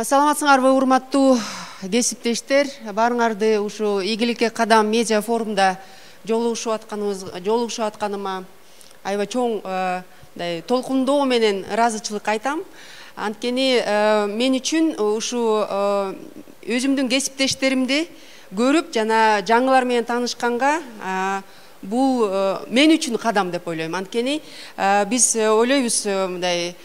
Саламатсыңарбы, урматтуу кесиптештер. Баарыңарды ушу ийгиликке кадам медиа форумда жолугушуп атканыма аябай чоң толкундоо менен ыраазычылык айтам. Анткени мен үчүн ушу өзүмдүн кесиптештеримди көрүп жана жаңылар менен таанышканга бул мен үчүн кадам деп ойлойм. Анткени биз ойлойбуз мындай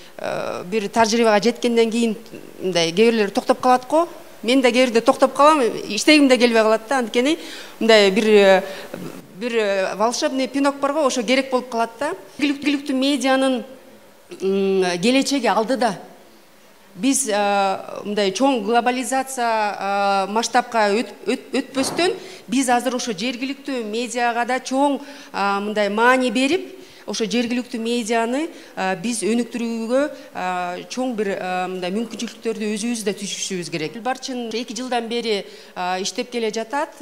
бир тажрыйбага жеткенден кийин мындай кээ бирлер токтоп калат го. Мен да кээ бирде токтоп калам, иштегим да келбей калат да. Анткени мындай бир волшебный пинок бар го, ошо керек болуп калат да. Ийгиликтүү медианын келечеги алдыда. Биз мындай чоң глобализация масштабка өтпөстөн биз азыр ошо жергиликтүү медиага да чоң мындай маани берип, ошо жергиликтүү медианы биз өнүктүрүүгө чоң бир мындай мүмкүнчүлүктөрдү өзүбүз да түзүшүбүз керек. Барчын 2 жылдан бери иштеп келе жатат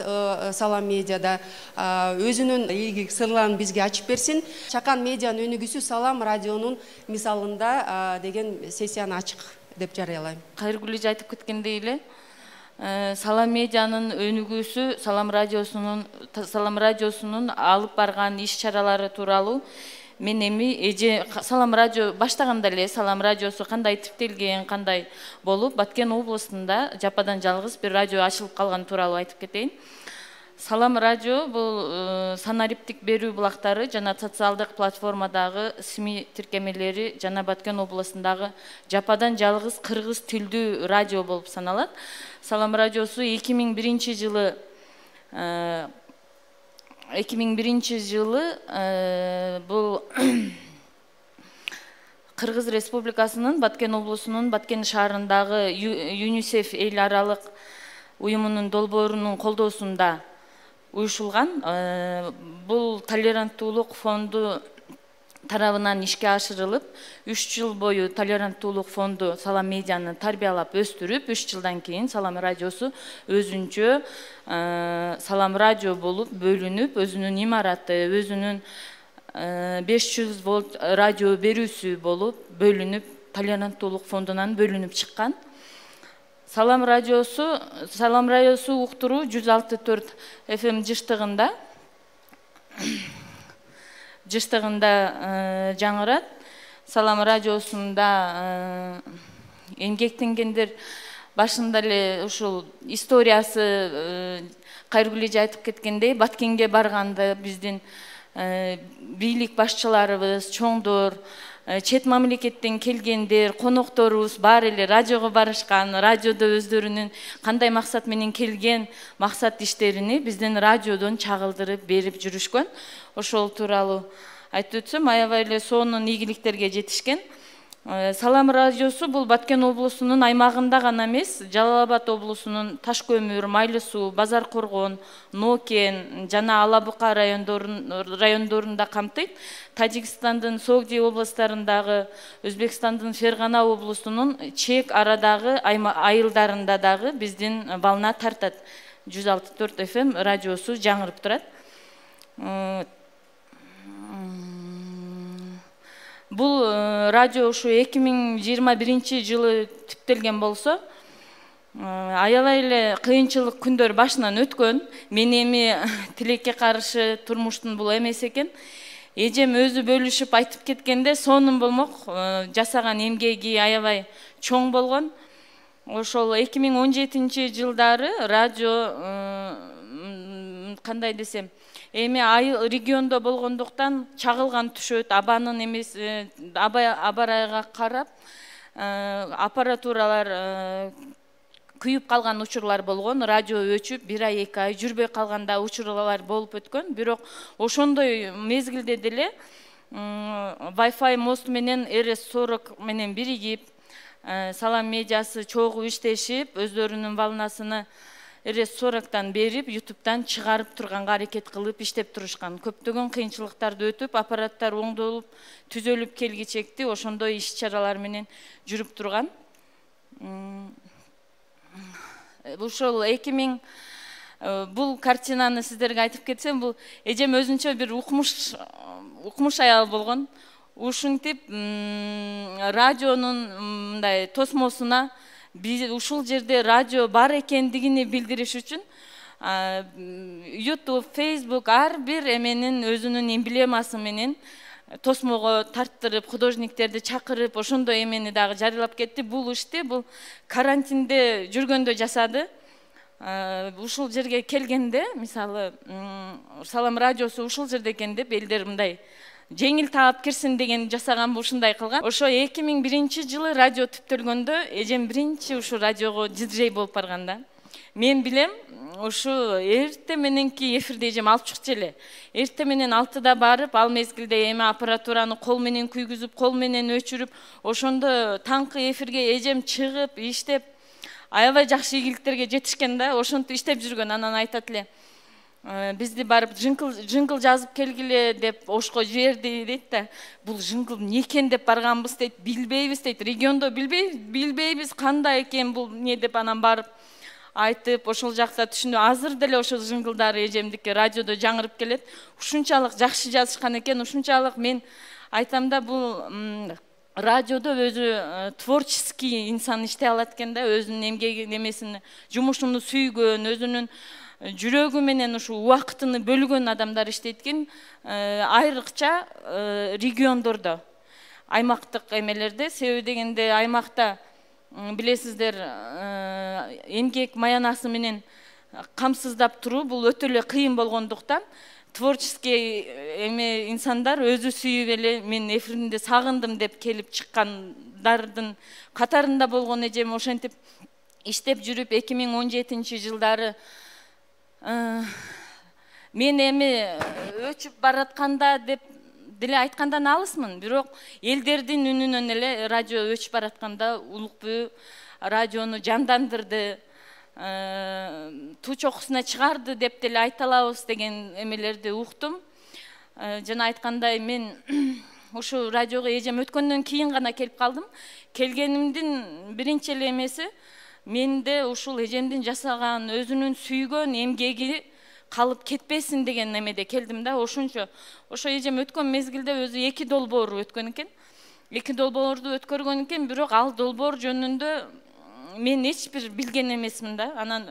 Салам медиада. Өзүнүн ийгилик сырларын бизге ачып берсин. Чакан медианын өнүгүүсү Салам радионун мисалында деген сессияны ачык деп жарыялайм. Кайргүл эже айтып кеткендей эле, Салам медианын өнүгүүсү Салам радиосунун алып барган иш-чаралары тууралуу мен эми эже Салам радио баштаганда эле Салам радиосу кандай типтелген, кандай болуп, Баткен областында жападан жалгыз бир радио ачылып калган тууралуу айтып кетейин. Салам радио бул санариптик берүү булактары жана социалдык платформадагы СМИ тиркемелери жана Баткен областындагы жападан жалгыз кыргыз тилдүү радио болуп саналат. Салам радиосу 2001 жылы бул Кыргыз Республикасынын Баткен облусунун Баткен шаарындагы ЮНИСЕФ эл аралык уюмунун долбоорунун колдоосунда уюшулган. Бул толеранттуулук фонду тарабынан ишке ашырылып, 3 жыл бою толеранттуулук фонду Салам медианы тарбиялап өстүрүп, 3 жылдан кийин Салам радиосу өзүнчө Салам радио болуп бөлүнүп, өзүнүн имараты, өзүнүн 500 вольт радио берүүсү болуп бөлүнүп, толеранттуулук фондунан бөлүнүп чыккан. Салам радиосу уктуруу 106.4 FM жыштыгында жаңырат. Салам радиосунда эмгектенгендер башында эле ушул историясы Кайргүл эже айтып кеткендей, Баткенге барганда биздин бийлик башчыларыбыз, чоңдор, чет мамлекеттен келгендер, конокторубуз баары эле радиого барышкан, радиодо өздөрүнүн кандай максат менен келген максат иштерини биздин радиодон чагылдырып берип жүрүшкөн. Ошол тууралуу айтып өтсөм, аябай эле сонун ийгиликтерге жетишкен. Салам радиосу бул Баткен облусунун аймагында гана эмес, Жалал Абад облусунун Таш көмүр, Майлы суу, Базар Коргон, Нокен жана Ала Бука райондорунда камтыйт. Тажикстандын Согди областарындагы, Өзбекстандын Фергана облусунун чек арадагы айылдарында дагы биздин бална тартат. 106.4 FM радиосу жаңырып турат. Бул радио ушу 2021 жылы типтелген болсо, аябай эле кыйынчылык күндөр башынан өткөн. Мен эми тилекке каршы турмуштун бул эмес экен. Эжем өзү бөлүшүп айтып кеткенде, сонун болмок, жасаган эмгеги аябай чоң болгон. Ошол 2017 жылдары радио кандай десем, эми айыл региондо болгондуктан чагылган түшөт, абанын эмес, абарайга карап аппаратуралар күйүп калган учурлар болгон, радио өчүп 1 ай 2 ай жүрбөй калганда учурлар болуп өткөн. Бирок ошондой мезгилде деле Wi-Fi мост менен RS40 менен биригип, Салам медиасы чогуу иштешип, өздөрүнүн волнасыны RS40-тан берип, YouTube'дан чыгарып турганга аракет кылып иштеп турушкан. Көптөгөн кыйынчылыктарды өтүп, аппараттар оңдолуп, түзөлүп келгичекти ошондой иш-чаралар менен жүрүп турган. Ушул 2000 бул картинаны сиздерге айтып кетсем, бул эжем өзүнчө бир укмуш аял болгон. Ушинтип радионун мындай тосмосуна биз ушул жерде радио бар экендигини билдириш үчүн YouTube, Facebook ар бир эменин өзүнүн эмблемасы менен тосмого тарттырып, художниктерди чакырып, ошондой эмени дагы жарыялап кетти. Бул ишти бул карантинде жүргөндө жасады. Ушул жерге келгенде, мисалы, Салам радиосу ушул жерде экен деп элдер мындай жеңил таап кирсин деген жасаган, ушундай кылган. Ошо 2001-жылы радио түптөлгөндө эжем биринчи ушу радиого диджей болуп барган да. Мен билем, ушу эрте мененки эфирде эжем алып чыкчу эле. Эрте менен 6-да барып, ал мезгилде эми аппаратураны кол менен күйгүзүп, кол менен өчүрүп, ошондо таңкы эфирге эжем чыгып, иштеп, аябай жакшы ийгиликтерге жетишкен да. Ошентип иштеп жүргөн. Анан айтат эле, бизди барып жингл жазып келгиле деп ошко жиберди дейт да. Бул жингл эмне экен деп барганбыз дейт, билбейбиз дейт. Региондо билбейбиз кандай экен бул эмне деп анан барып айтып, ошол жакта түшүнүп, азыр деле ошол жинглдары эжемдики радиодо жаңырып келет. Ушунчалык жакшы жазышкан экен, ушунчалык мен айтам да, бул радиодо өзү творческий инсан иштей алат экен да, өзүнүн эмгеги немесин, жумушуну сүйгөн, өзүнүн жүрөгү менен ушу убактыны бөлгөн адамдар иштейт экен. Айрыкча региондордо, аймактык эмелерде, себеби дегенде аймакта билесиздер, эмгек маянасы менен камсыздап туруу бул өтө эле кыйын болгондуктан творческий эме инсандар өзү сүйүп эле мен эфиринде сагындым деп келип чыккандардын катарында болгон эжем. Ошентип иштеп жүрүп 2017-жылдары мен эми өчүп баратканда деп деле айткандан алысмын, бирок элдердин үнүнөн эле радио өчүп баратканда Улукбүү радиону жандандырды, туу чокусуна чыгарды деп деле айта алабыз деген эмелерди уктум. Жана айткандай, мен ушу радиого эжем өткөндөн кийин гана келип калдым. Келгенимдин биринчи эле эмеси менде ушул эжемдин жасаган, өзүнүн сүйгөн эмгеги калып кетпесин деген эмеде келдим да. Ошончо ошо эжем өткөн мезгилде өзү 2 долбоор өткөн экен. 2 долбоорду өткөргөн экен, бирок ал долбоор жөнүндө мен эч бир билген эмесмин да. Анан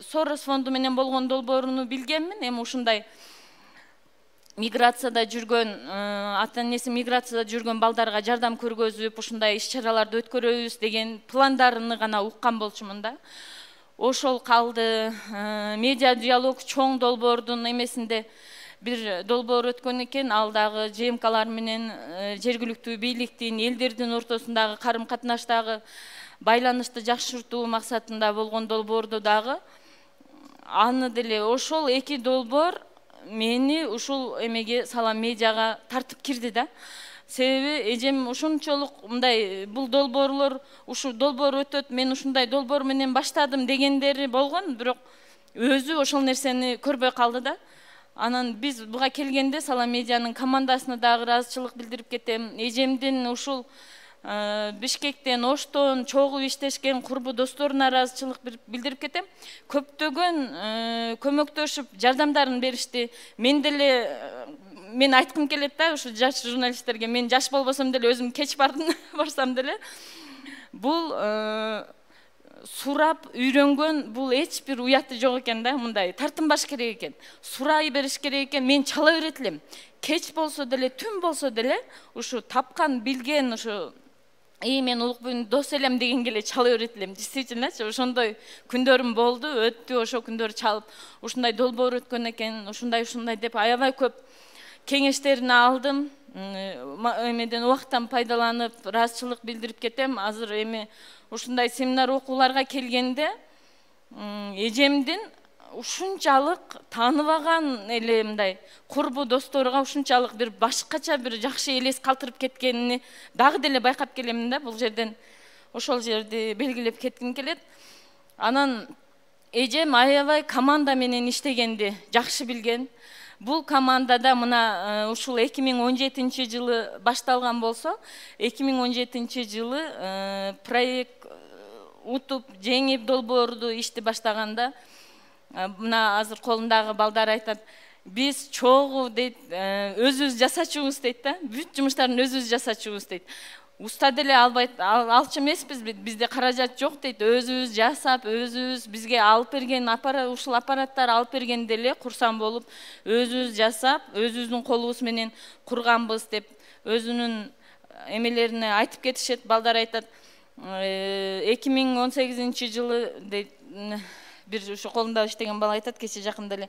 Сорос фонду менен болгон долбооруну билгенмин. Эми ушундай миграцияда жүргөн, ата-энеси миграцияда жүргөн балдарга жардам көргөзүп, ушундай иш-чараларды өткөрөбүз деген пландарын гана уккан болчумун да. Ошол калды. Медиа диалог чоң долбоордун эмесинде бир долбоор өткөн экен. Ал дагы ЖМКлар менен жергиликтүү бийликтин, элдердин ортосундагы карым-катнаштагы байланышты жакшыртуу максатында болгон долбоорду дагы аны деле ошол 2 долбоор мени ушул эмеге Салам медиага тартып кирди да. Себеби эжем ушунчолук мындай бул долбоорлор, ушу долбоор өтөт, мен ушундай долбоор менен баштадым дегендери болгон, бирок өзү ошол нерсени көрбөй калды да. Анан биз буга келгенде Салам медианын командасына дагы ыраазычылык билдирип кетем. Эжемдин ушул Бишкектен, Оштон чогуу иштешкен курбу досторуна ыраазычылык билдирип кетем. Көптөгөн көмөктөшүп жардамдарын беришти. Мен деле мен айткым келет да ушу жаш журналисттерге, мен жаш болбосом деле өзүм кеч барсам деле бул сурап үйрөнгөн, бул эч бир уяты жок экен да. Мындай тартынбаш керек экен, сурай бериш керек экен. Мен чала берет элем, кеч болсо деле, түн болсо деле ушу тапкан, билген ушу мен Улукбүүнүн дос элем дегенге эле чала берет элем. Действительно, ошондой күндөрүм болду, өттү. Ошо күндөрү чалып, ушундай долбоор өткөн экен, ушундай деп аябай көп кеңештерин алдым. Эмеден убакыттан пайдаланып ыраазычылык билдирип кетем. Азыр эми ушундай семинар окууларга келгенде эжемдин ушунчалык тааныбаган эле мындай курбу досторуга ушунчалык бир башкача бир жакшы элес калтырып кеткенини дагы деле байкап келемин да. Бул жерден ошол жерди белгилеп кетким келет. Анан эжем аябай команда менен иштегенди жакшы билген. Бул командада мына ушул 2017-жылы башталган болсо, 2017-жылы проект утуп жеңип долбоорду ишти баштаганда мына азыр колундагы балдар айтат, биз чогуу дейт, өзүбүз жасачубуз дейт да, бүт жумуштарын өзүбүз жасачубуз дейт. уста деле алчу эмеспиз, бизде каражат жок дейт. Өзүбүз жасап, өзүбүз бизге алып берген ушул аппараттар алып берген деле курсам болуп, өзүбүз жасап, өзүбүздүн колубуз менен курганбыз деп өзүнүн эмелерине айтып кетишет. Балдар айтат, 2018 жылы дейт, бир ушу колунда иштеген бала айтат, кече жакында эле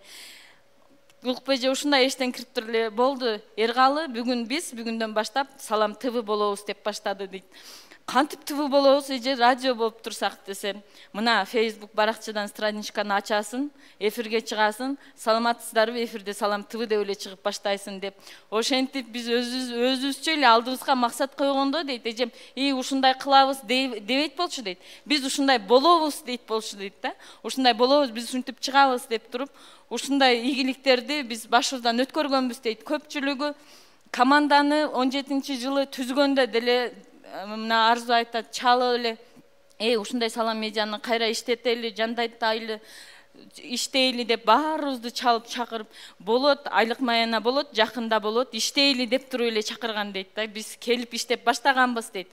УЛКПЖ ушундай эштен кирип туруп эле болду. Эргалы бүгүндөн баштап Салам ТВ болобуз деп баштады дейт. Кантип ТВ болобуз же радио болуп турсак десем, мына Facebook баракчадан страничканы ачасың, эфирге чыгасың, саламатсыздарбы, эфирде Салам ТВ деп эле чыгып баштайсың деп. Ошентип биз өзүбүзчө эле алдыбызга максат койгондо дейт, эжем, ушундай кылабыз дебейт болчу дейт. Биз ушундай болобуз дейт болчу дейт да. Ушундай болобуз, биз ушинтип чыгабыз деп туруп, ушундай ийгиликтерди биз башыбыздан өткөргөнбүз дейт. Көпчүлүгү команданы 17 жылы түзгөндө деле мына Арзу айтат, чалып эле, ушундай Салам медианы кайра иштетели, жандайтайлы иштейли деп баарыбызды чалып чакырып, болот, айлык маяна болот, жакында болот, иштейли деп туруп эле чакырган дейт да. Биз келип иштеп баштаганбыз дейт.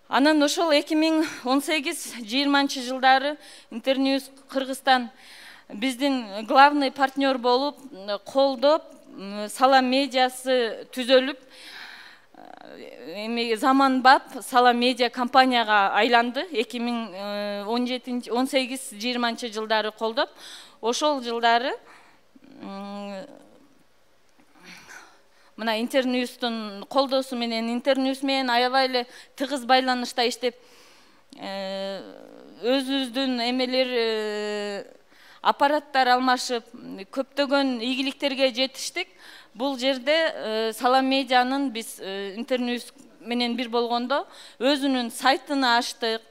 Анан ошол 2018-20 жылдары Интерньюз Кыргызстан биздин главный партнер болуп, колдоп, Салам медиасы түзөлүп, заманбап Салам медиа компанияга айланды. 2018-20 жылдары колдоп, ошол жылдары мына Интерньюздун колдоосу менен, Интерньюз менен аябай эле тыгыз байланышта иштеп, өзүбүздүн эмелер аппараттар алмашып, көптөгөн ийгиликтерге жетиштик. Бул жерде Салам медианын биз Интерньюз менен бир болгондо өзүнүн сайтын ачтык,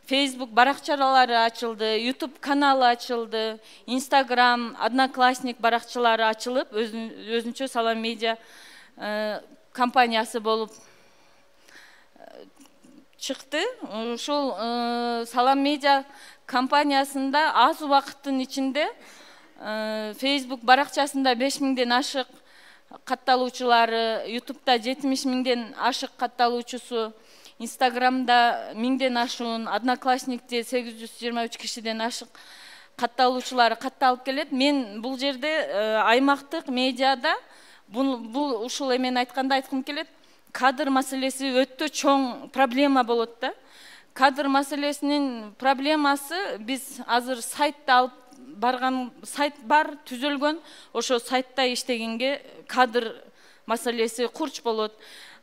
Facebook баракчалары ачылды, YouTube каналы ачылды, Instagram, Одноклассник баракчалары ачылып, өзүнчө Салам медиа компаниясы болуп чыкты. Ушул Салам медиа компаниясында аз убакыттын ичинде Facebook баракчасында 5000ден ашык катталуучулары, YouTube'да 70.000ден ашык катталуучусу, Instagram'да 1000ден ашуун, Одноклассникте 823 кишиден ашык катталуучулары катталып келет. Мен бул жерде аймактык медиада бул ушул эмени айтканда айткым келет. Кадр маселеси өтө чоң проблема болот да. Кадр маселесинин проблемасы, биз азыр сайтты алып барган, сайт бар, түзөлгөн, ошо сайтта иштегенге кадр маселеси курч болот.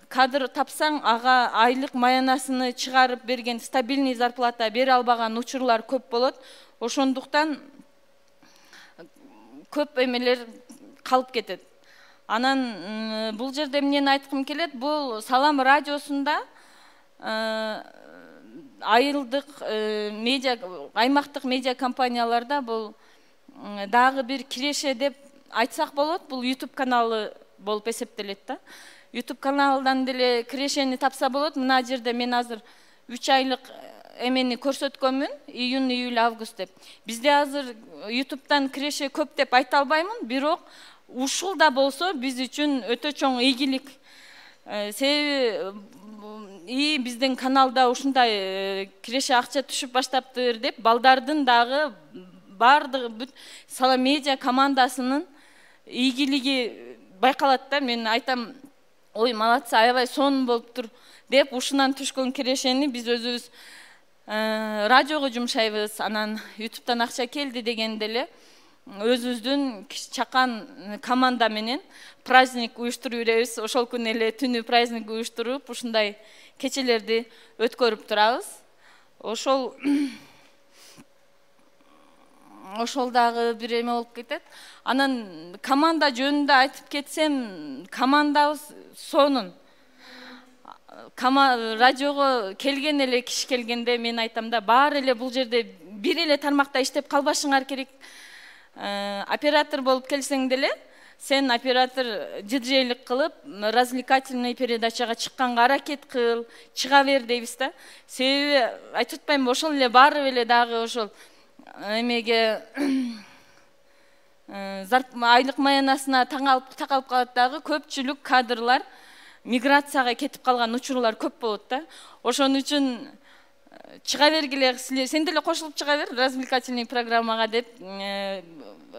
Кадр тапсаң, ага айлык маянасыны чыгарып берген, стабильный зарплата бере албаган учурлар көп болот. Ошондуктан көп эмелер калып кетет. Анан бул жерде эмнени айткым келет, бул Салам радиосунда айылдык медиа, аймактык медиа компанияларда бул дагы бир киреше деп айтсак болот. Бул YouTube каналы болуп эсептелет да. YouTube каналдан деле кирешени тапса болот. Мына жерде мен азыр 3 айлык эмени көрсөткөнмүн, июнь, июль, август деп. Бизде азыр YouTube'дан киреше көп деп айта албаймын, бирок ушул да болсо биз үчүн өтө чоң ийгилик. Себеби биздин каналда ушундай киреше акча түшүп баштаптыр деп балдардын дагы баардыгы Салам медиа командасынын ийгилиги байкалат да. Мен айтам, ой, молодцы, аябай сонун болуптур деп ушунан түшкөн кирешени биз өзүбүз радиого жумшайбыз. Анан YouTube'дан акча келди дегенде эле өзүбүздүн чакан команда менен праздник уюштуруп беребиз. Ошол күнү эле түнү праздник уюштуруп, ушундай кечелерди өткөрүп турабыз. Ошол дагы бир эме болуп кетет. Анан команда жөнүндө айтып кетсем, командабыз сонун. Радиого келген эле киши келгенде мен айтам да, баары эле бул жерде бир эле тармакта иштеп калбашыңар керек. Оператор болуп келсең деле, сен оператор диджейлик кылып, развлекательный передачага чыкканга аракет кыл, чыга бер дейбиз да. Себеби айтып атпаймынбы, ошол эле баары эле дагы ошол эмеге айлык маянасына такалып калат дагы. Көпчүлүк кадрлар миграцияга кетип калган учурлар көп болот да. Ошон үчүн чыга бергиле, сен деле кошулуп чыга бер развлекательный программага деп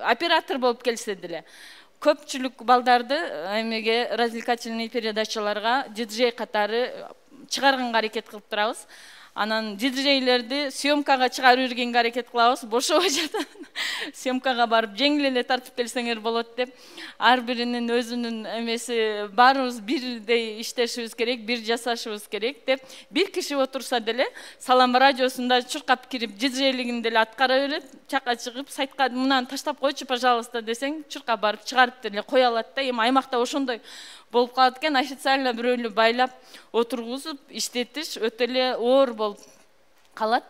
оператор болуп келсе деле. Көпчүлүк балдарды эмеге развлекательный передачаларга диджей катары чыгарганга аракет кылып турабыз. Анан диджейлерди съемкага чыгарып жүргенге аракет кылабыз. Бошобой жатат. Съемкага барып жеңил эле тартып келсеңер болот деп. Ар биринин өзүнүн эмеси баарыбыз бирдей иштешибиз керек, бир жасашыбыз керек деп. Бир киши отурса деле Салам радиосунда чуркап кирип диджейлигин деле аткара берет. Чакка чыгып сайтка мынаны таштап койчу, пожалуйста десең, чуркап барып чыгарып деле кое алат да. Эми аймакта ошондой болуп калат экен, официально бирөөлү байлап отургузуп иштетиш өтө эле оор болуп калат.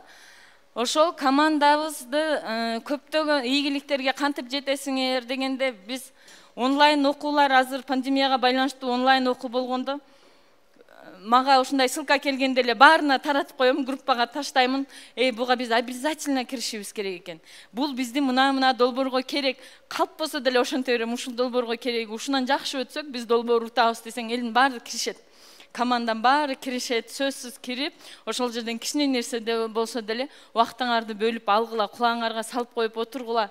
Ошол командабызды көптөгөн ийгиликтерге кантип жетесиңер дегенде, биз онлайн окуулар азыр пандемияга байланыштуу онлайн окуу болгондо мага ушундай ссылка келгенде эле баарына таратып коем, группага таштаймын. Буга биз обязательно киришибиз керек экен. Бул биздин мына долбоорго керек. Калп болсо деле ошентип берем, ушул долбоорго керек. Ушунан жакшы өтсөк, биз долбоор утабыз десең, элдин баары киришет. Команданын баары киришет, сөзсүз кирип, ошол жерден кичине нерсе болсо деле убактыңарды бөлүп алгыла, кулаңарга салып коюп отургула.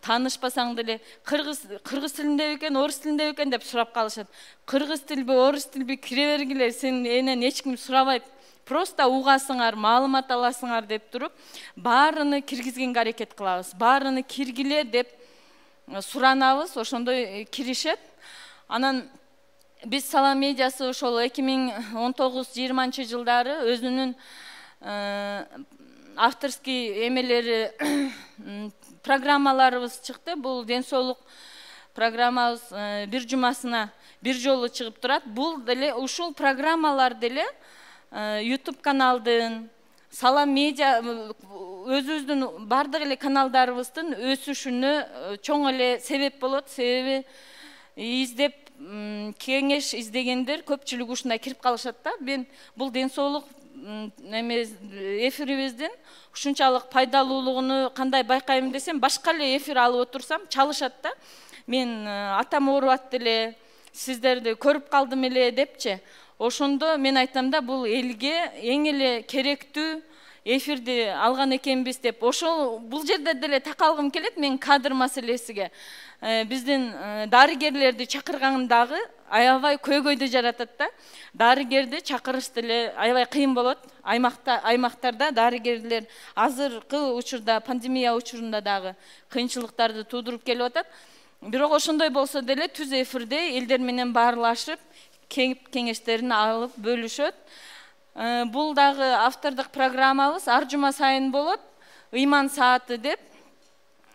Таанышпасаң деле кыргыз тилинде экен, орус тилинде экен деп сурап калышат. Кыргыз тилби, орус тилби кире бергиле, сен энен эч ким сурабайт. Просто угасыңар, маалымат аласыңар деп туруп, баарыны киргизгенге аракет кылабыз. Баарыны киргиле деп суранабыз, ошондой киришет. Анан биз Салам медиасы ошол 2019-20 жылдары өзүнүн авторский эмелери программаларыбыз чыкты. Бул ден соолук программабыз бир жумасына бир жолу чыгып турат. Бул деле ушул программалар деле YouTube каналдын, Салам медиа өзүбүздүн бардык эле каналдарыбыздын өсүшүнө чоң эле себеп болот. Себеби издеп кеңеш издегендер көпчүлүк ушундай кирип калышат да. Мен бул ден соолук эфирибиздин ушунчалык пайдалуулугуну кандай байкайм десем, башка эле эфир алып отурсам чалышат да. Мен атам оорубат деле, сиздерди көрүп калдым эле депчи. Ошондо мен айтам да, бул элге эң эле керектүү эфирди алган экенбиз деп. Ошол бул жерде деле такалгым келет мен кадр маселесиге. Биздин дарыгерлерди чакыргандагы аябай көйгөйдү жаратат да. Дарыгерди чакырыш деле аябай кыйын болот. Аймактарда дарыгерлер азыркы учурда, пандемия учурунда дагы кыйынчылыктарды туудуруп келип атат. Бирок ошондой болсо деле түз эфирде элдер менен баарлашып, кеңештерин алып бөлүшөт. Бул дагы автордук программабыз ар жума сайын болот. Ыйман сааты деп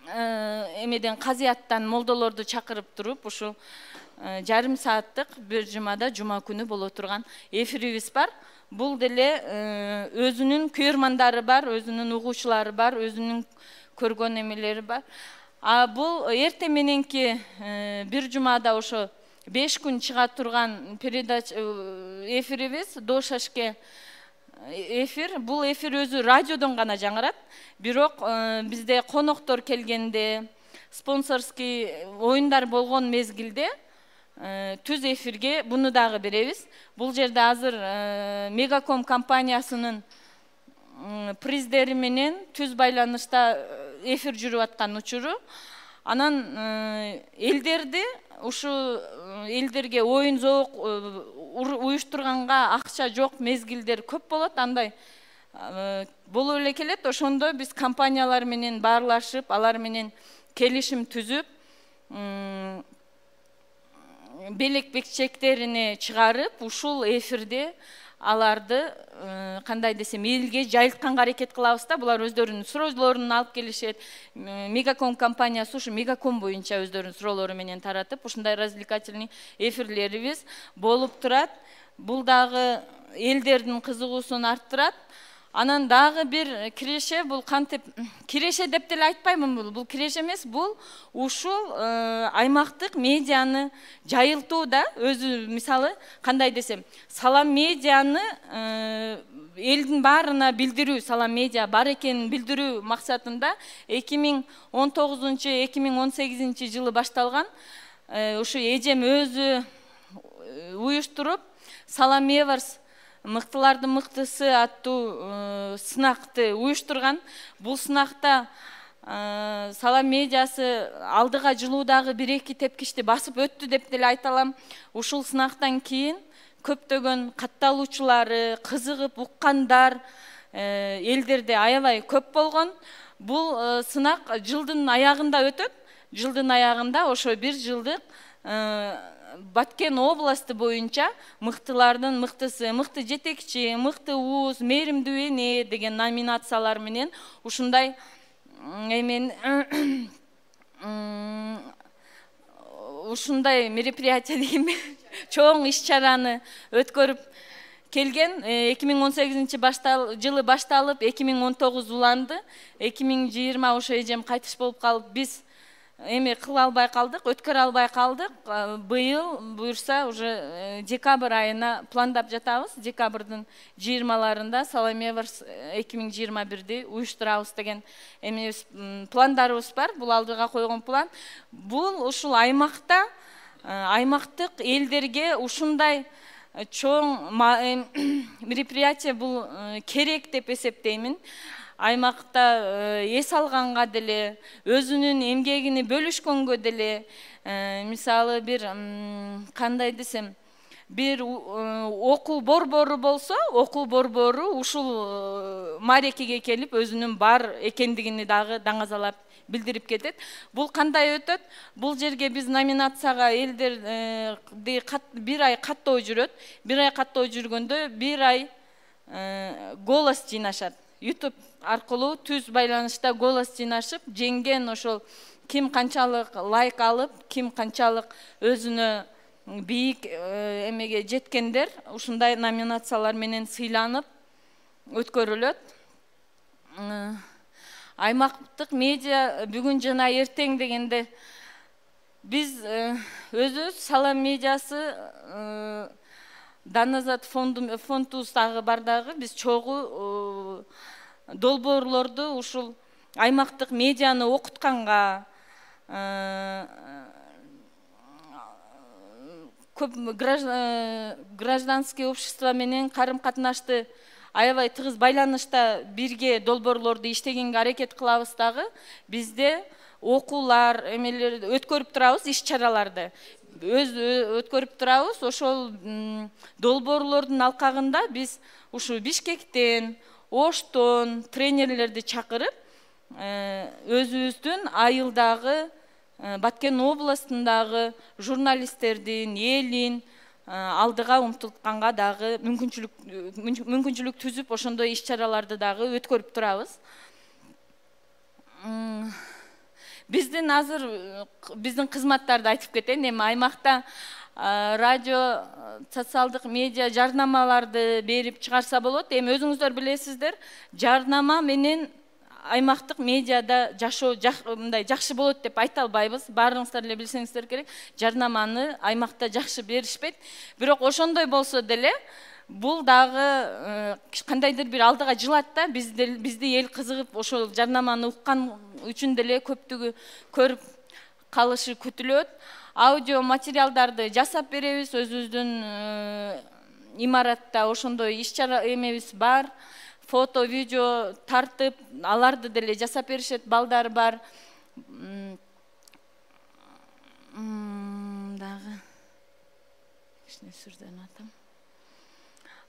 эмеден казыяттан молдолорду чакырып туруп, ушул жарым сааттык бир жумада жума күнү боло турган эфирибиз бар. Бул деле өзүнүн күйөрмандары бар, өзүнүн угуучулары бар, өзүнүн көргөн эмелери бар. Бул эртең мененки бир жумада ошо 5 күн чыга турган передача эфирибиз Дошашке эфир. Бул эфир өзү радиодон гана жаңырат. Бирок бизде коноктор келгенде, спонсорский оюндар болгон мезгилде түз эфирге буну дагы беребиз. Бул жерде азыр Мегаком компаниясынын приздери менен түз байланышта эфир жүрүп аткан учуру. Анан элдерди ушу элдерге оюн зоок уюштурганга акча жок мезгилдер көп болот. Андай болуп эле келет. Ошондо биз компаниялар менен баарлашып, алар менен келишим түзүп, белек бекчектерине чыгарып, ушул эфирде аларды кандай десем элге жайылтканга аракет кылабыз да. Булар өздөрүнүн суроолорун алып келишет. Мегаком компаниясы ушу Мегаком боюнча өздөрүнүн суроолору менен таратып, ушундай развлекательный эфирлерибиз болуп турат. Бул дагы элдердин кызыгуусун арттырат. Анан дагы бир киреше, бул кантип киреше деп деле айтпаймын, бул киреше эмес, бул ушул аймактык медианы жайылтуу да. Өзү мисалы кандай десем, Салам медианы элдин баарына билдирүү, Салам медиа бар экенин билдирүү максатында 2019-2018 жылы башталган. Ушу эжем өзү уюштуруп, Салам Эварс мыктылардын мыктысы аттуу сынакты уюштурган. Бул сынакта Салам медиасы алдыга жылуудагы 1-2 тепкичти басып өттү деп деле айта алам. Ушул сынактан кийин көптөгөн катталуучулары, кызыгып уккандар элдерде аябай көп болгон. Бул сынак жылдын аягында өтөт. Жылдын аягында ошо 1 жылдык Баткен областы боюнча мыктылардын мыктысы, мыкты жетекчи, мыкты уус, мээримдүү эне деген номинациялар менен ушундай ушундай мероприятие дейм, чоң иш-чараны өткөрүп келген. 2018 жылы башталып 2019 уланды. 2020 ошо эжем кайтыш болуп калып, биз эми кыла албай калдык, өткөрө албай калдык. Быйыл буюрса уже декабрь айына пландап жатабыз. Декабрдын 20-ларында Салам Эварс 2021-ди уюштурабыз деген эми пландарыбыз бар. Бул алдыга койгон план. Бул ушул аймакта аймактык элдерге ушундай чоң мероприятие бул керек деп эсептеймин. Аймакта эс алганга деле, өзүнүн эмгегини бөлүшкөнгө деле, мисалы бир кандай десем, бир окуу борбору болсо, окуу борбору ушул маарекеге келип өзүнүн бар экендигини дагы даңазалап билдирип кетет. Бул кандай өтөт? Бул жерге биз номинацияга элдерди 1 ай каттоо жүрөт. 1 ай каттоо жүргөндө 1 ай голос жыйнашат. YouTube аркылуу түз байланышта голос жыйнашып, жеңген ошол ким канчалык лайк алып, ким канчалык өзүнө бийик эмеге жеткендер ушундай номинациялар менен сыйланып өткөрүлөт. Аймактык медиа бүгүн жана эртең дегенде биз өзүбүз Салам медиасы Даназат фондубуздагы бардагы биз чогуу долбоорлорду ушул аймактык медианы окутканга, көп гражданский общество менен карым-катнашты аябай тыгыз байланышта бирге долбоорлорду иштегенге аракет кылабыз дагы. Бизде окуулар, эмелер өткөрүп турабыз, иш-чараларды өткөрүп турабыз. Ошол долбоорлордун алкагында биз ушу Бишкектен, Оштон тренерлерди чакырып, өзүбүздүн айылдагы Баткен областындагы журналисттердин, элин алдыга умтултканга дагы мүмкүнчүлүк түзүп, ошондой иш-чараларды дагы өткөрүп турабыз. Биздин азыр биздин кызматтарды айтып кетейин. Эми аймакта радио, социалдык медиа жарнамаларды берип чыгарса болот. Эми өзүңүздөр билесиздер, жарнама менен аймактык медиада жашоо мындай жакшы болот деп айта албайбыз. Баарыңыздар эле билсеңиздер керек. Жарнаманы аймакта жакшы беришпейт. Бирок ошондой болсо деле бул дагы кандайдыр бир алдыга жылат да. Бизди эл кызыгып ошол жарнаманы уккан үчүн деле көптүгү көрүп калышы күтүлөт. Аудио материалдарды жасап беребиз. Өзүбүздүн имаратта ошондой иш-чара эмебиз бар. Фото, видео тартып, аларды деле жасап беришет, балдар бар. Дагы кичине сүрдөн атам.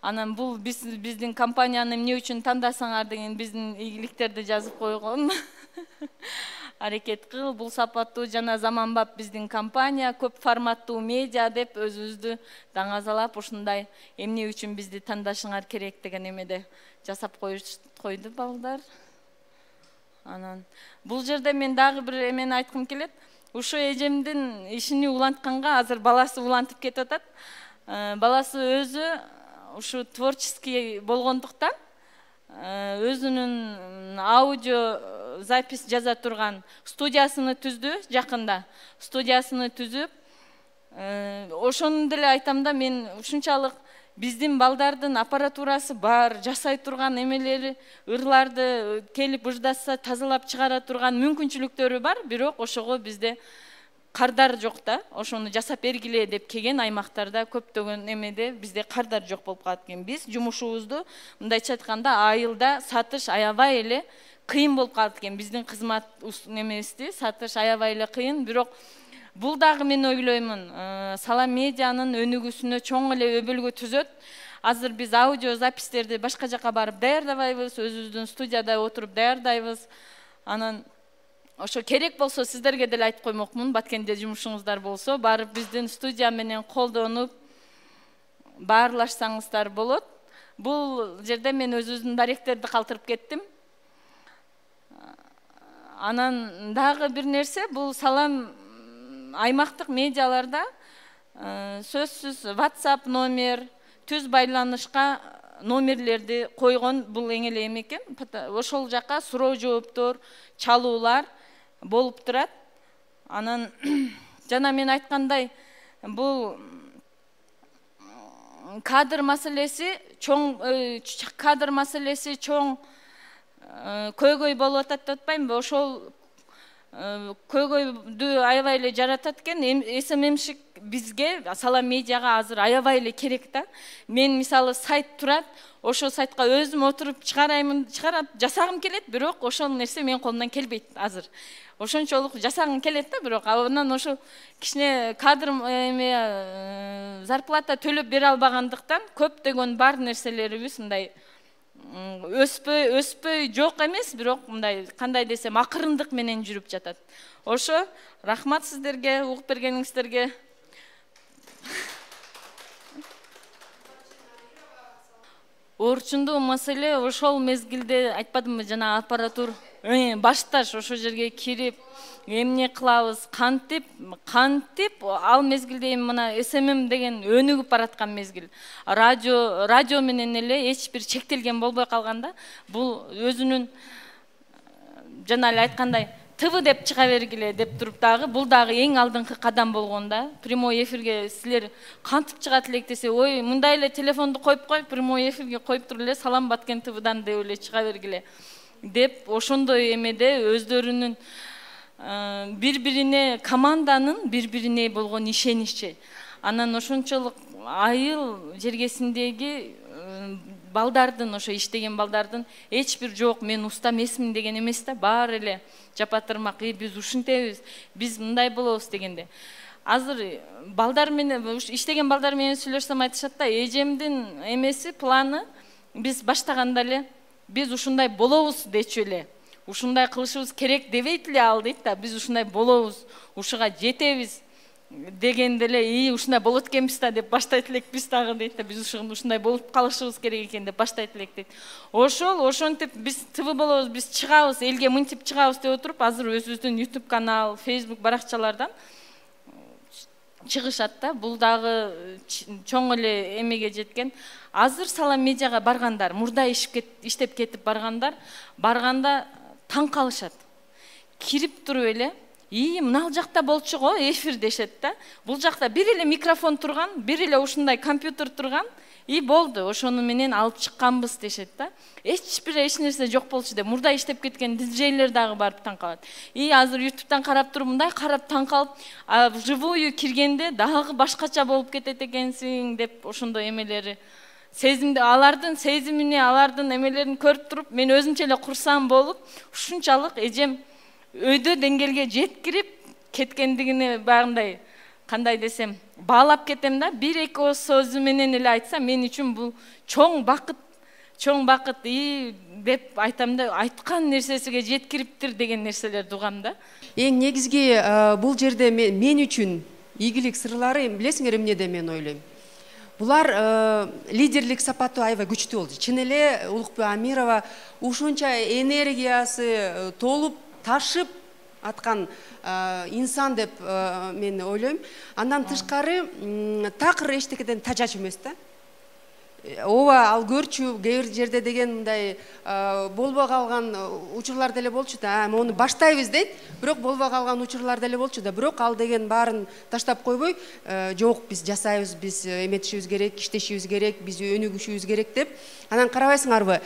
Анан бул биздин компанияны эмне үчүн тандасаңар деген биздин ийгиликтерди жазып койгон. Аракет кыл, бул сапаттуу жана заманбап биздин компания, көп форматтуу медиа деп өзүбүздү даңазалап, ушундай эмне үчүн бизди тандашыңар керек деген эмеде жасап койду балдар. Анан бул жерде мен дагы бир эмени айткым келет. Ушу эжемдин ишини улантканга азыр баласы улантып кетип атат. Баласы өзү ушу творческий болгондуктан өзүнүн аудио запись жаза турган студиясыны түздү жакында. Студиясыны түзүп, ошону деле айтам да, мен ушунчалык биздин балдардын аппаратурасы бар, жасай турган эмелери, ырларды келип ыждаса тазалап чыгара турган мүмкүнчүлүктөрү бар, бирок ошого бизде кардар жок да, ошону жасап бергиле деп келген аймактарда көптөгөн эмеде бизде кардар жок болуп калат экен. Биз жумушубузду мындайча айтканда айылда сатыш аябай эле кыйын болуп калат экен. Биздин кызмат немести сатыш аябай эле кыйын, бирок бул дагы мен ойлоймун, Салам медианын өнүгүүсүнө чоң эле өбөлгө түзөт. Азыр биз аудио запистерди башка жака барып даярдабайбыз, өзүбүздүн студияда отуруп даярдайбыз. Анан ошо керек болсо сиздерге деле айтып коймокмун, Баткенде жумушуңуздар болсо, барып биздин студия менен колдонуп баарлашсаңыздар болот. Бул жерде мен өзүбүздүн даректерди калтырып кеттим. Анан дагы бир нерсе, бул Салам аймактык медиаларда сөзсүз WhatsApp номер, түз байланышка номерлерди койгон бул эң эле эме экен. Ошол жака суроо жооптор, чалуулар болуп турат. Анан жана мен айткандай, бул кадр маселеси чоң көйгөй болуп атат деп атпаймынбы? Ошол көйгөйдү аябай эле жаратат экен. СММшик бизге, Салам медиага азыр аябай эле керек да. Мен мисалы сайт турат, ошол сайтка өзүм отуруп чыгарап жасагым келет, бирок ошол нерсе менин колумдан келбейт азыр. Ошончолук жасагым келет да, бирок анан ошо кичине кадр зарплата төлөп бере албагандыктан көптөгөн бар нерселерибиз мындай өспөй жок эмес, бирок мындай кандай десем акырындык менен жүрүп жатат. Ошо рахмат сиздерге, угуп бергениңиздерге. Орчундуу маселе ошол мезгилде айтпадымбы, жана аппаратура башташ ошол жерге кирип эмне кылабыз, кантип ал мезгилде мына СММ деген өнүгүп бараткан мезгил. Радио менен эле эч бир чектелген болбой калганда, бул өзүнүн жана эле айткандай ТВ деп чыга бергиле деп туруп дагы, бул дагы эң алдыңкы кадам болгонда. Прямой эфирге силер кантип чыгат элек десе, ой, мындай эле телефонду коюп кой, прямой эфирге коюп туруп эле Салам Баткен ТВдан деп эле чыга бергиле деп ошондой эмеде өздөрүнүн бири-бирине, команданын бири-бирине болгон ишеничи. Анан ошончолук айыл жергесиндеги балдардын, ошо иштеген балдардын эч бир жок, мен уста эмесмин деген эмес да, баары эле жапатырмак, биз ушинтебиз, биз мындай болобуз дегенде. Азыр балдар менен иштеген балдар менен сүйлөшсөм айтышат да, эжемдин эмеси, планы биз баштаганда эле биз ушундай болобуз дечү эле. Ушундай кылышыбыз керек дебейт эле ал дейт да, биз ушундай болобуз, ушуга жетебиз дегенде эле, ушундай болот экенбиз да деп баштайт элек биз дагы дейт да, биз ушундай болуп калышыбыз керек экен деп баштайт элек дейт. Ошентип биз ТВ болобуз, биз чыгабыз, элге мынтип чыгабыз деп отуруп, азыр өзүбүздүн YouTube канал, Facebook баракчалардан чыгышат да. Бул дагы чоң эле эмеге жеткен. Азыр Салам медиага баргандар, мурда иштеп кетип барганда таң калышат. Кирип туруп эле, мына жакта болчу го эфир дешет да. Бул жакта бир эле микрофон турган, бир эле ушундай компьютер турган, болду, ошону менен алып чыкканбыз дешет да. Эч нерсе жок болчу деп. Мурда иштеп кеткен диджейлер дагы барып таң калат. Азыр YouTube'дан карап туруп, мындай карап таң калып, вживую киргенде дагы башкача болуп кетет экенсиң деп ошондой эмелери. Сезимди, алардын сезимине, алардын эмелерин көрүп туруп, мен өзүмчө эле курсам болуп, ушунчалык эжем өйдө деңгээлге жеткирип кеткендигине багындай, кандай десем, баалап кетем да. Бир-эки сөзү менен эле айтсам, мен үчүн бул чоң бакыт деп айтам да, айткан нерсесиге жеткириптир деген нерселерди угам да. Эң негизги бул жерде мен үчүн ийгилик сырлары, билесиңер эмнеде мен ойлойм. Булар лидерлик сапаты аябай күчтүү болду. Чын эле Улукбек Амирова ушунча энергиясы толуп, ташып аткан инсан деп мен ойлойм. Андан тышкары такыр эчтекеден тажач эмес да. Ооба, ал көрчү, кээ бир жерде деген мындай болбой калган учурлар деле болчу да. Мону баштайбыз дейт, бирок болбой калган учурлар деле болчу да. Бирок ал деген баарын таштап койбой, жок, биз жасайбыз, биз эметишибиз керек, иштешибиз керек, биз өнүгүшүбүз керек деп. Анан карабайсыңарбы,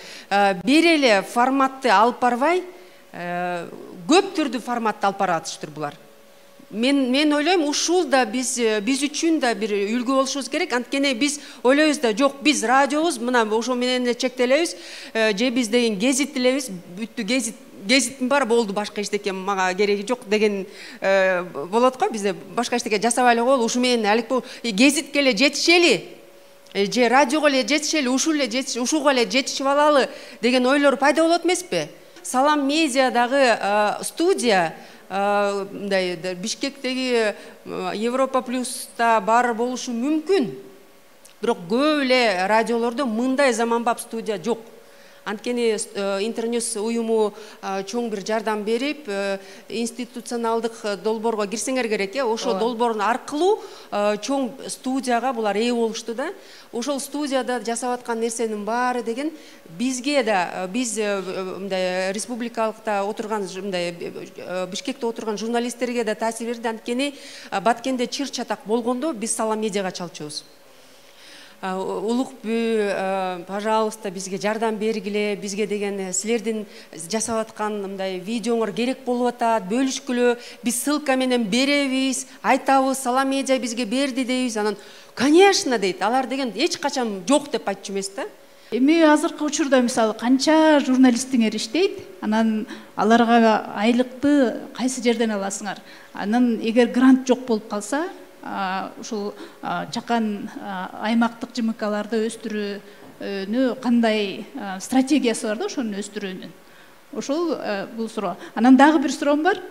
бир эле форматты алып барбай, көп түрдүү форматты алып баратыштыр булар. мен ойлойм ушул да биз үчүн да бир үлгү болушубуз керек. Анткени биз ойлойбуз да, жок, биз радиобуз мына ошо менен эле чектелебиз, же биз деген гезит элебиз, бүттү, гезиттин бар, болду, башка эчтеке мага кереги жок деген болот го. Бизде башка эчтеке жасабай эле коелу, ушу менен алек гезитке эле жетишели, же радиого эле жетишели, ушуга эле жетишип алалы деген ойлор пайда болот эмеспи? Салам медиа дагы студия мындай Бишкектеги Европа плюста бар болушу мүмкүн. Бирок көп эле радиолордо мындай заманбап студия жок. Анткени Интерньюз уюму чоң бир жардам берип, институционалдык долбоорго кирсеңер керек. Ошол долбоордун аркылуу чоң студияга булар ээ болушту да. Ошол студияда жасап аткан нерсенин баары деген бизге да, биз мындай республикалыкта отурган, мындай Бишкекте отурган журналисттерге да таасир берди. Анткени Баткенде чыр чатак болгондо биз Салам медиага чалчубуз. Улукбү, пожалуйста, бизге жардам бергиле, бизге деген силердин жасап аткан мындай видеоңор керек болуп атат, бөлүшкүлө, биз ссылка менен беребиз, айтабыз, Салам медиа бизге берди дейбиз. Анан конечно дейт, алар деген эч качан жок деп айтчу эмес да. Эми азыркы учурда мисалы канча журналистиңер иштейт, анан аларга айлыкты кайсы жерден аласыңар? Анан эгер грант жок болуп калса, ушул чакан аймактык ЖМКларды өстүрүүнү кандай стратегиясы бар да ошону өстүрүүнүн? Ошол бул суроо. Анан дагы бир суроом бар.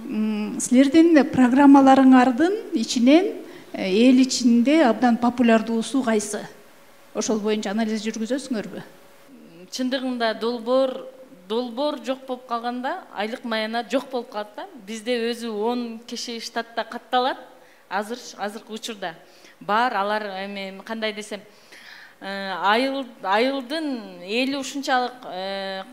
Силердин программаларыңардын ичинен эл ичинде абдан популярдуусу кайсы? Ошол боюнча анализ жүргүзөсүңөрбү? Чындыгында долбоор жок болуп калганда айлык маянат жок болуп калат да. Бизде өзү 10 киши штатта катталат. Азыркы учурда бар, алар эми кандай десем, айылдын эли ушунчалык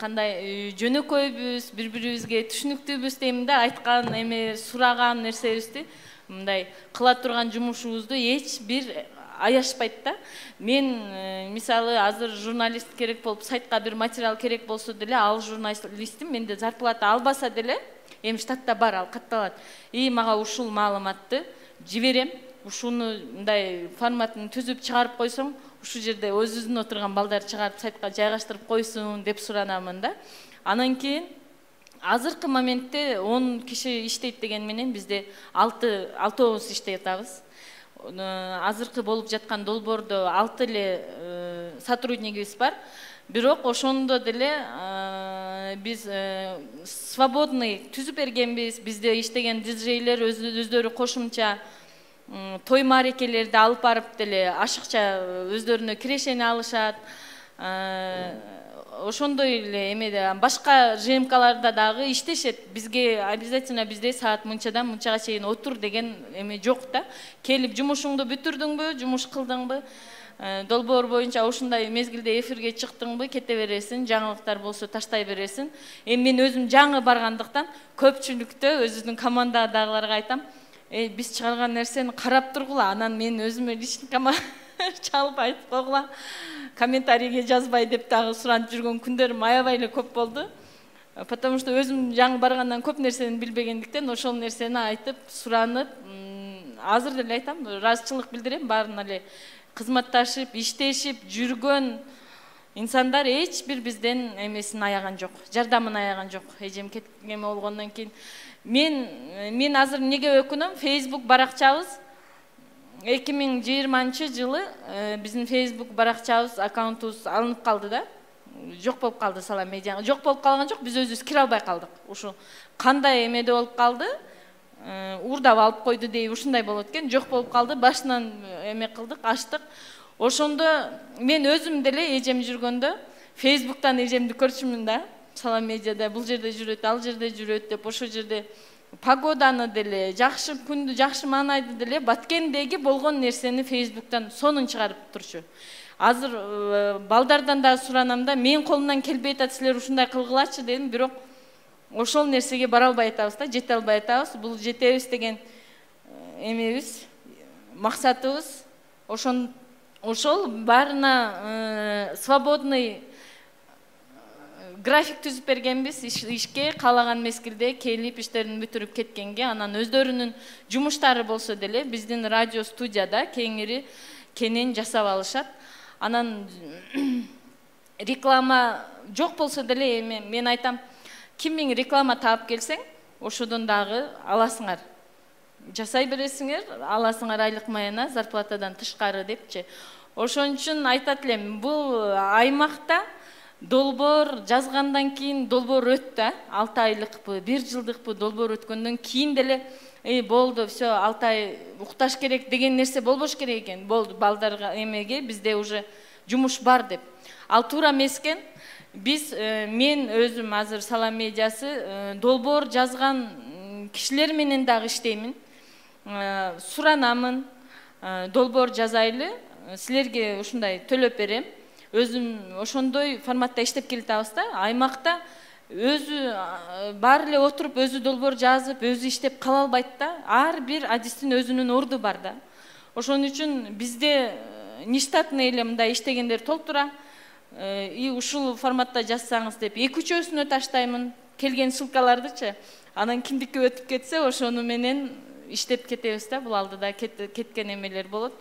кандай жөнөкөйбүз, бири-бирибизге түшүнүктүүбүз дейм да, айткан эми сураган нерсебизди, мындай кыла турган жумушубузду эч бир аяшпайт да. Мен мисалы азыр журналист керек болуп, сайтка бир материал керек болсо деле, ал журналистим, менде зарплата албаса деле, эми штатта бар, ал катталат. Мага ушул маалыматты жиберем, ушуну мындай форматын түзүп чыгарып койсоң, ушу жерде өзүбүздүн отурган балдар чыгарып сайтка жайгаштырып койсун деп суранамын да. Анан кийин азыркы моментте 10 киши иштейт деген менен бизде 6 иштей атабыз. Азыркы болуп жаткан долбоордо 6 эле сотруднигибиз бар. Бирок ошондо деле биз свободный түзүп бергенбиз. Бизде иштеген диджейлер өздөрү кошумча той маарекелерди алып барып деле ашыкча өздөрүнө кирешени алышат. Ошондой эле эмеде башка ЖМКларда дагы иштешет. Бизге обязательно бизде саат мынчадан мынчага чейин отур деген эме жок да. Келип жумушуңду бүтүрдүңбү, жумуш кылдыңбы, долбоор боюнча ушундай мезгилде эфирге чыктыңбы, кете бересиң, жаңылыктар болсо таштай бересиң. Мен өзүм жаңы баргандыктан көпчүлүктө өзүмдүн командадагыларга айтам, биз чыгарган нерсени карап тургула, анан мен өзүмө личникама чалып айтып койгула, комментарийге жазбай деп дагы суранып жүргөн күндөрүм аябай эле көп болду. Потому что өзүм жаңы баргандан көп нерсени билбегендиктен ошол нерсени айтып, суранып, азыр деле айтам, ыраазычылык билдирем, баарына эле кызматташып, иштешип жүргөн инсандар эч бир бизден эмесин аяган жок, жардамын аяган жок. Эжем кеткен болгондон кийин мен азыр эмнеге өкүнөм? Facebook баракчабыз 2020-жылы биздин Facebook баракчабыз, аккаунтубуз алынып калды да. Жок болуп калды Салам медиа. Жок болуп калган жок, биз өзүбүз кире албай калдык. Ушу кандай эмеде болуп калды? Урдап алып койду дей, ушундай болот экен. Жок болуп калды, башынан эме кылдык, ачтык. Ошондо мен өзүм деле эжем жүргөндө Facebooктан эжемди көрчүмүн да. Салам медиада бул жерде жүрөт, ал жерде жүрөт деп, ошол жерде погоданы деле, жакшы күндү, жакшы маанайды деле, Баткендеги болгон нерсени Facebooктан сонун чыгарып турчу. Азыр балдардан да суранам да, мен колумдан келбей атат, силер ушундай кылгылачы дедим, бирок ошол нерсеге бара албай атабыз да, жете албай атабыз. Бул жетебиз деген эмебиз, максатыбыз. Ошол баарына свободный график түзүп бергенбиз ишке, каалаган мезгилде келип иштерин бүтүрүп кеткенге. Анан өздөрүнүн жумуштары болсо деле биздин радио студияда кенен жасап алышат. Анан реклама жок болсо деле эми мен айтам, ким миң реклама таап келсең, ошодон дагы аласыңар. Жасай бересиңер, аласыңар айлык маяна зарплатадан тышкары депчи. Ошон үчүн айтат элем, бул аймакта долбоор жазгандан кийин долбоор өттү, 6 айлыкпы, 1 жылдыкпы долбоор өткөндөн кийин деле болду, все, 6 ай укташ керек деген нерсе болбош керек экен. Болду, балдарга эмеге бизде уже жумуш бар деп. Ал туура эмес экен. Мен өзүм азыр Салам медиасы долбоор жазган кишилер менен дагы иштеймин. Суранамын, долбоор жазайлы, силерге ушундай төлөп берем. Өзүм ошондой форматта иштеп келатабыз да. Аймакта өзү бар эле отуруп, өзү долбоор жазып, өзү иштеп кала албайт да. Ар бир адистин өзүнүн орду бар да. Ошон үчүн бизде нештатный эле мындай иштегендер толтура. Ушул форматта жазсаңыз деп 2-3-өсүнө таштаймын, келген ссылкалардычы. Анан кимдики өтүп кетсе, ошону менен иштеп кетебиз да. Бул алдыда кеткен эмелер болот.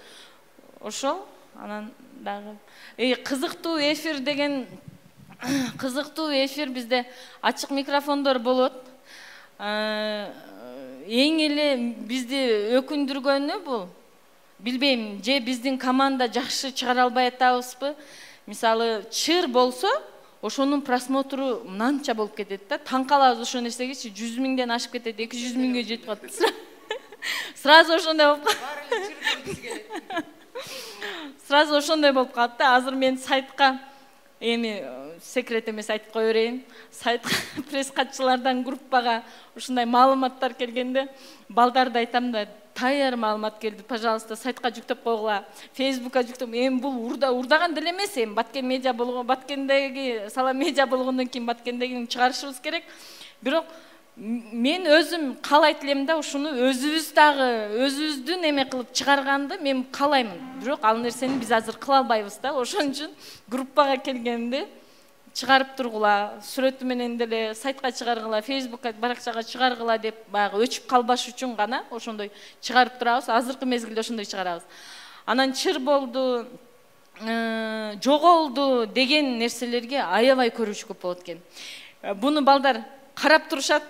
Ошол, анан дагы кызыктуу эфир деген, кызыктуу эфир бизде ачык микрофондор болот. Эң эле бизди өкүндүргөнү бул, билбейм, же биздин команда жакшы чыгара албай атабызбы. Мисалы, чыр болсо, ошонун просмотру мынанча болуп кетет да. Таң калабыз ошол нерсегечи, 100 миңден ашып кетет, 200 миңге жетип калат. Сразу ошондой болуп калат. Сразу ошондой болуп калат да. Азыр мен сайтка, эми секрет эмес айтып кое берейин. Сайтка пресс катчылардан группага ушундай маалыматтар келгенде, балдарды айтам да, таяр маалымат келди, пожалуйста, сайтка жүктөп койгула, Фейсбукка жүктөп. Эми бул урдаган деле эмес, эми Баткен медиа болгон, Баткендеги Салам медиа болгондон кийин Баткендегини чыгарышыбыз керек. Бирок мен өзүм каалайт элем да, ушуну өзүбүз дагы өзүбүздүн эме кылып чыгарганды мен каалаймын. Бирок ал нерсени биз азыр кыла албайбыз да. Ошон үчүн группага келгенде чыгарып тургула, сүрөтү менен деле сайтка чыгаргыла, Фейсбукка, баракчага чыгаргыла деп баягы өчүп калбаш үчүн гана ошондой чыгарып турабыз. Азыркы мезгилде ошондой чыгарабыз. Анан чыр болду, жоголду деген нерселерге аябай көрүүчү көп болот экен. Буну балдар карап турушат,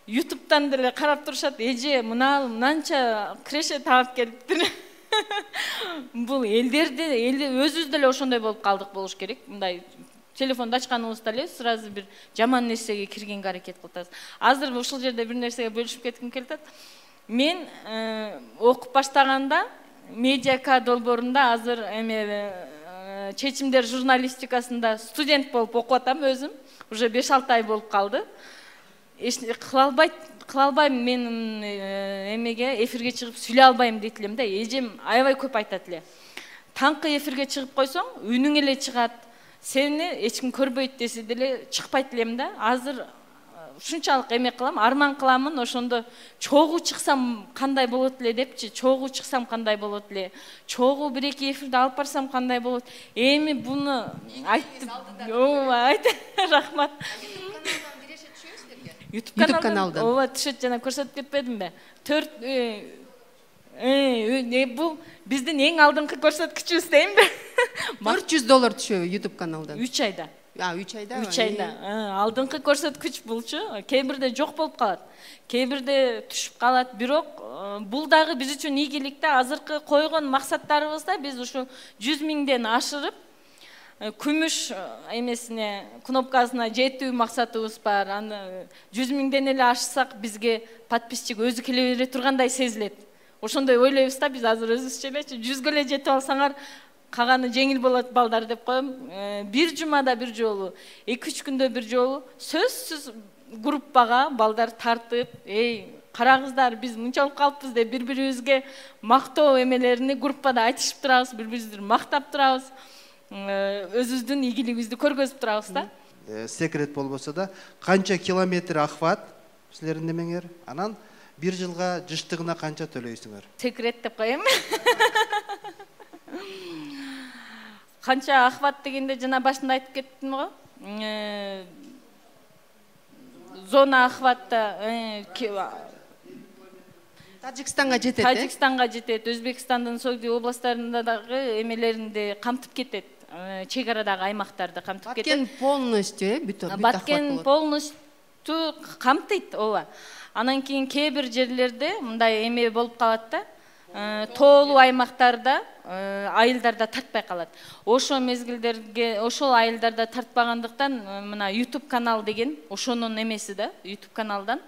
YouTube'дан деле карап турушат. Эже, мынанча креше таап келиптир. Бул элдерде, өзүбүз деле ошондой болуп калдык болуш керек. Мындай телефонду ачканыбызда эле сразу бир жаман нерсеге киргенге аракет кылып атабыз. Азыр ушул жерде бир нерсеге бөлүшүп кетким келип атат. Мен окуп баштаганда Медиака долбоорунда азыр чечимдер журналистикасында студент болуп окуп атам өзүм. Уже 5-6 ай болуп калды. Кыла албайм мен эмеге эфирге чыгып сүйлөй албайм дейт элем да. Эжем аябай көп айтат эле. Таңкы эфирге чыгып койсоң, үнүң эле чыгат. Сени эч ким көрбөйт десе деле чыкпайт элем да. Азыр ушунчалык эме кылам, арман кыламын, ошондо чогуу чыксам кандай болот эле депчи, чогуу чыксам кандай болот эле, чогуу 1-2 эфирди алып барсам кандай болот. Эми буну айтып, рахмат. YouTube каналдан. Ооба, түшөт, жана көрсөтүп кетпедимби? 4 бул биздин эң алдыңкы көрсөткүчүбүз деймби? $400 түшөбү YouTube каналдан. 3 айда. 3 айда. 3 айда. Алдыңкы көрсөткүч булчу. Кээ бирде жок болуп калат. Кээ бирде түшүп калат. Бирок бул дагы биз үчүн ийгилик да. Азыркы койгон максаттарыбызда биз ушу 100 миңден ашырып, күмүш эмесине, кнопкасына жетүү максатыбыз бар. Аны 100 миңден эле ашсак, бизге подписчик өзү келе бере тургандай сезилет. Ошондой ойлойбуз да биз азыр өзүбүзчө элечи. 100 ге жетип алсаңар, каганы жеңил болот балдар деп коем. Бир жумада бир жолу, 2-3 күндө бир жолу сөзсүз группага балдар тартып, карагыздар, биз мынча болуп калыппыз деп бири-бирибизге мактоо эмелерини группада айтышып турабыз, бири-бирибизди мактап турабыз. Өзүбүздүн ийгилигибизди көргөзүп турабыз да. Секрет болбосо да, канча километр охват силердин немеңер? Анан бир жылга жыштыгына канча төлөйсүңөр? Секрет деп коем. Канча охват дегенде жана башында айтып кеттим го. зона охватта Тажикстанга жетет. Тажикстанга жетет, Өзбекстандын Согди областарында дагы эмелеринде камтып кетет. Чек арадагы аймактарды камтып кетет. Баткен полностью, бүт Баткен полностью камтыйт, ооба. Анан кийин кээ бир жерлерде мындай эме болуп калат да, тоолуу аймактарда, айылдарда тартпай калат. Ошол мезгилдерге, ошол айылдарда тартпагандыктан мына YouTube канал деген, ошонун эмеси да, YouTube каналдан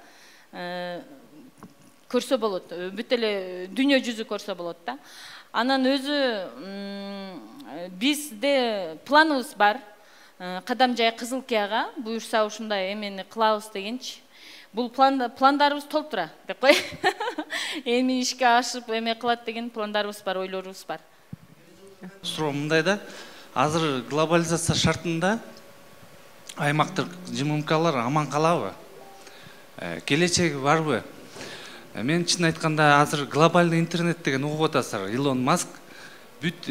көрсө болот. Бүт эле дүйнө жүзү көрсө болот да. Анан өзү бизде планыбыз бар. Кадамжай Кызылкияга буюрса ушундай эмени кылабыз дегенчи. Бул пландарыбыз толтура деп кой. Эми ишке ашып эме кылат деген пландарыбыз бар, ойлорубуз бар. Суроо мындай да, азыр глобализация шартында аймактык ЖММКлар аман калабы? Келечеги барбы? Мен чын айтканда азыр глобальный интернет деген угуп атасыздар. Илон Маск бүт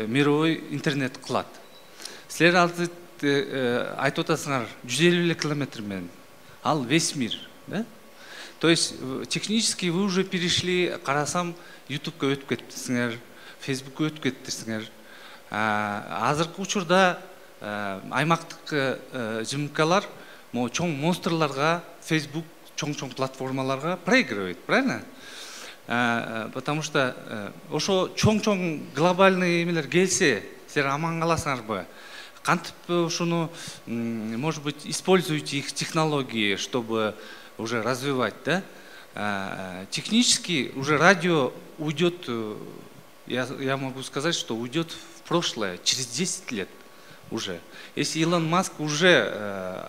мировой интернет кылат. Силер азыр айтып атасыңар 150 километр менен. Ал весь мир, да? То есть технически вы уже перешли, карасам, YouTube'га өтүп кетиптирсиңер, Facebook'ка өтүп кетиптирсиңер. Азыркы учурда аймактык ЖМКлар чоң монстрларга, Facebook чоң платформаларга проигрывает, правильно? Потому что ошо чоң глобальный эмелер келсе, силер аман каласыңарбы? Кантип ушуну, может быть, используйте их технологии, чтобы уже развивать, да? Технически уже радио уйдет, я могу сказать, что уйдет в прошлое, через 10 лет уже. Если Илон Маск уже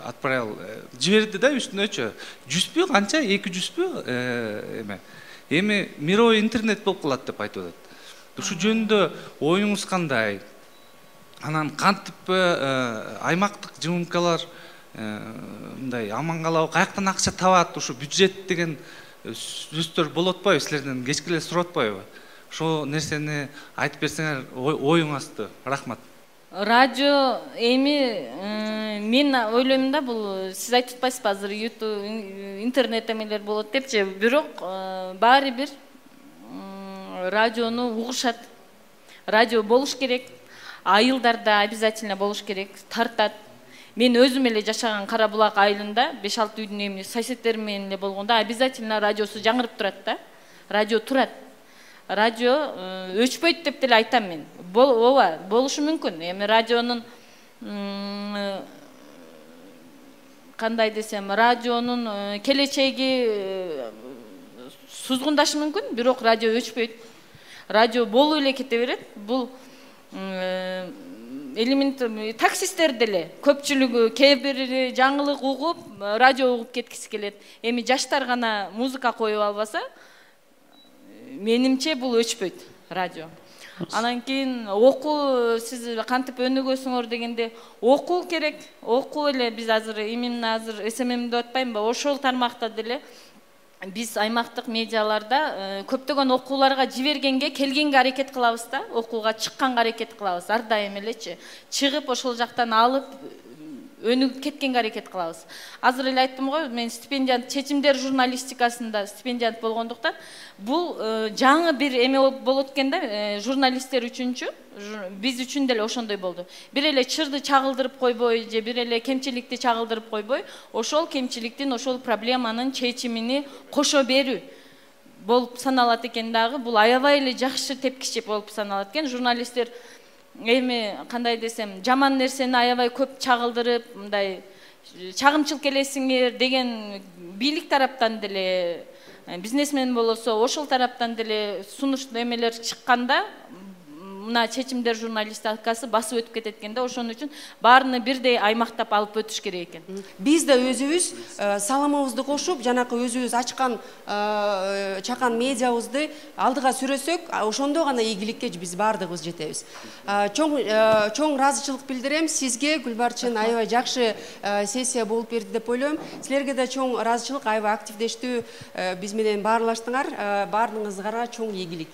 отправил, жиберди да, үстүнө жүзбү, канча, 200 эми мировой интернет болуп калат деп айтып атат. Ушу жөнүндө оюңуз кандай? Анан кантип аймактык ЖМКлар мындай аман калабы, каяктан акча табат, ушу бюджет деген сөздөр болуп атпайбы, силерден кечке эле сурап атпайбы? Ошол нерсени айтып берсеңер оюңузду. Рахмат. Радио эми мен ойлойм да, бул сиз айтып атпайсызбы азыр YouTube, интернет эмелер болот депчи, бирок баары бир радиону угушат. Радио болуш керек. Айылдарда обязательно болуш керек, тартат. Мен өзүм эле жашаган Кара Булак айылында 5-6 үйдүн эмне соседтерим менен эле болгондо обязательно радиосу жаңырып турат да. Радио турат. Радио өчпөйт деп деле айтам мен. Ооба, болушу мүмкүн. Эми радионун кандай десем, радионун келечеги сузгундашы мүмкүн, бирок радио өчпөйт. Радио болуп эле кете берет. Бул элемент таксистер деле көпчүлүгү кээ бири жаңылык угуп, радио угуп кеткиси келет. Эми жаштар гана музыка коюп албаса, менимче бул өчпөйт радио. Анан кийин окуу, сиз кантип өнүгөсүңөр дегенде, окуу керек. Окуу эле биз азыр именно азыр СММ деп атпаймынбы, ошол тармакта деле биз аймактык медиаларда көптөгөн окууларга жибергенге, келгенге аракет кылабыз да, окууга чыкканга аракет кылабыз. Ар дайым элечи чыгып ошол жактан алып өнүгүп кеткенге аракет кылабыз. Азыр эле айттым го, мен стипендиант, чечимдер журналистикасында стипендиант болгондуктан, бул жаңы бир эме болот экен да, журналисттер үчүнчү, биз үчүн деле ошондой болду. Бир эле чырды чагылдырып койбой, же бир эле кемчиликти чагылдырып койбой, ошол кемчиликтин, ошол проблеманын чечимини кошо берүү болуп саналат экен дагы. Бул аябай эле жакшы тепкичи болуп саналат экен. Журналисттер эми кандай десем, жаман нерсени аябай көп чагылдырып, мындай чагымчыл келесиңер деген бийлик тараптан деле, бизнесмен болосо ошол тараптан деле сунуш эмелер чыкканда, мына чечимдер журналистикасы басып өтүп кетет экен да. Ошон үчүн баарыны бирдей аймактап алып өтүш керек экен. Биз да өзүбүз саламыбызды кошуп, жанакы өзүбүз ачкан чакан медиабызды алдыга сүрөсөк, ошондо гана ийгиликке биз баардыгыбыз жетебиз. Чоң ыраазычылык билдирем сизге, Гүлбарчын. Аябай жакшы сессия болуп берди деп ойлойм. Силерге да чоң ыраазычылык, аябай активдештүү биз менен баарлаштыңар. Баарыңызга чоң ийгилик.